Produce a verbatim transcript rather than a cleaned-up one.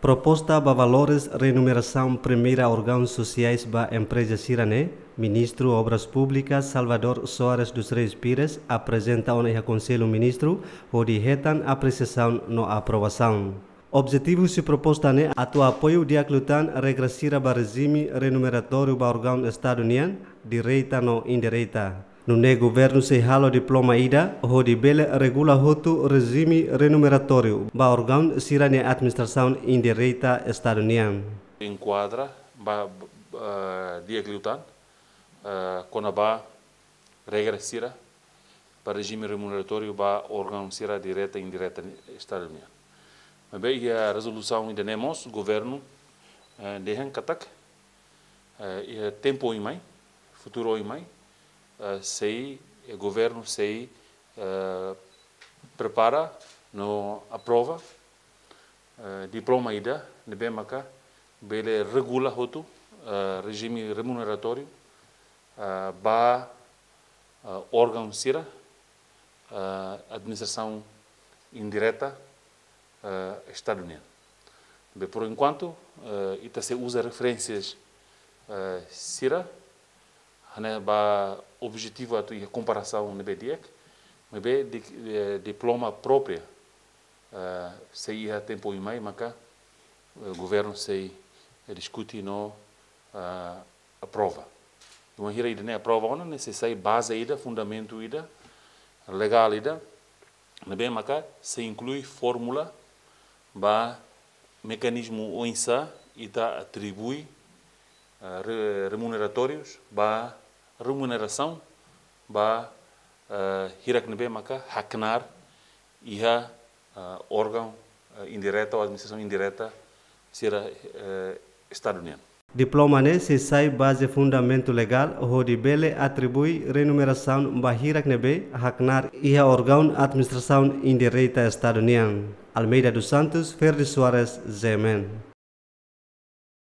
Proposta ba valores renumerasaun primeira órgaun sosiais ba empreza sira ne'e, Ministru Obras Públikas Salvador Soares dos Reis Pires aprezenta ona iha Konsellu Ministru hodi hetan apresiasaun no aprovasaun. Objetivu husi proposta ne'e atu apoiu di'ak liután regra sira ba rejime renumeratóriu ba órgaun Estadu nian, direta no indireta. Nune'e governu sei halo diploma ida hodi bele regula hotu rejime renumeratóriu ba órgaun sira-nia administrasaun indireta Estadu nian. Enkuadra ba, ba, di'ak liután, eh, kona-ba regra sira ba rejime renumeratóriu ba órgaun sira direta indireta ni-, Estadu nian. Maibé iha rezolusaun ida-ne'e mós governu, eh, dehan katak, eh, iha tempu oin mai, futuru oin mai, eh, sei, eh, governu sei, eh, prepara no aprova, eh, diploma ida ne'ebé maka bele regula hotu, eh, rejime renumeratóriu, eh, ba, eh, órgaun sira, eh, administrasaun indireta, eh, Estadu nian. Be, por enkuantu, eh, ita sei uza referénsias, eh, sira, hanesan ba objetivu atu iha komparasaun ne'ebé di'ak, maibé di, eh, diploma própria, eh, sei iha tempu oin mai maka, eh, governu sei, eh, diskute no, eh, aprova. Wainhira ida-ne'e aprova ona, ne'e sei sai baze ida, fundamentu ida, legál ida, ne'ebé maka sei inklui fórmula ba mekanizmu oinsá ita atribui, eh, re-, remuneratórius ba remunerasaun ba, eh, hirak ne'ebé maka haknar iha, eh, órgaun, eh, indireta ou administrasaun indireta sira, eh, Estadu nian. Diploma ne'e sei sai baze fundamentu legál hodi bele atribui renumerasaun ba hirak ne'ebé haknar iha órgaun administrasaun indireta Estadu nian. Almeida dos Santos, Ferdi Soares, G M N.